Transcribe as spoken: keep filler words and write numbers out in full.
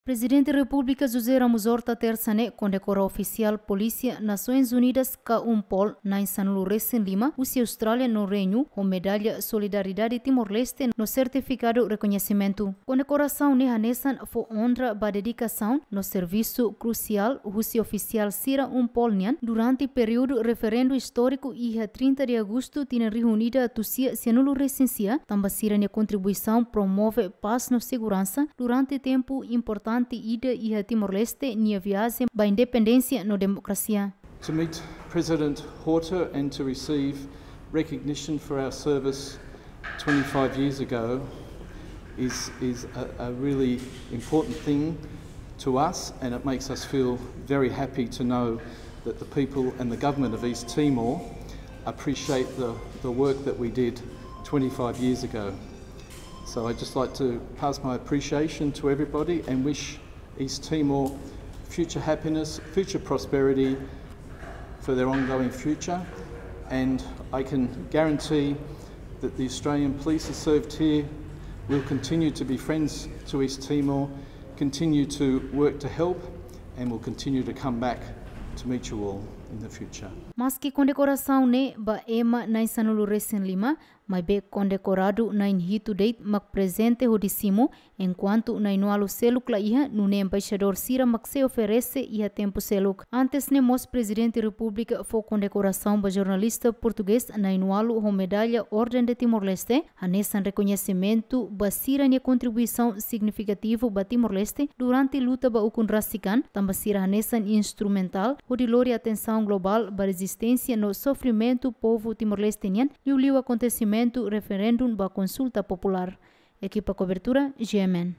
Prezidente Repúblika José Ramos Horta tersa ne'e kondekora ofisiál Polísia Nasoins Unidas KFOR na'in sanulu resin lima husi Austrália no Reinu ho medalla Solidariedade Timor-Leste no sertifikadu rekoñesimentu. Kondekorasaun ne'e hanesan fó onra ba dedikasaun no servisu krusiál husi ofisiál sira KFOR nian durante períodu referendu istóriku iha trinta de agostu tinan rihun ida atus sia sianulu resin sia, tanba sira-nia kontribuisaun promove pás no seguransa durante tempu importante ida iha Timor-Leste nia viajen ba independénsia no demokrasia. To meet President Horta and to receive recognition for our service twenty-five years ago is, is a, a really important thing to us, and it makes us feel very happy to know that the people and the government of East Timor appreciate the, the work that we did twenty-five years ago. So I'd just like to pass my appreciation to everybody and wish East Timor future happiness, future prosperity for their ongoing future. And I can guarantee that the Australian police who served here will continue to be friends to East Timor, continue to work to help, and will continue to come back to meet you all in the future. Maski kondekorasaun ne'e ba ema na'in sanulu resin lima, maibé kondekoradu na'in hitu de'it mak prezente hodi simu, enkuantu na'in ualu seluk la iha, nune'e embaixadór sira mak sei oferese iha tempu seluk. Antes ne'e mós Prezidente Repúblika fó kondekorasaun ba jornalista portugés na'in ualu ho medalla Orden de Timor-Leste, hanesan rekoñesimentu ba sira-nia kontribuisaun signifikativu ba Timor-Leste durante luta ba ukun rasik an, tanba sira hanesan instrumentál hodi lori atensaun globál ba rezisténsia no sofrimentu povu Timor-Leste nian, liuliu akontesimentu referendu ba konsulta populár. Ekipa kobertura, G M N.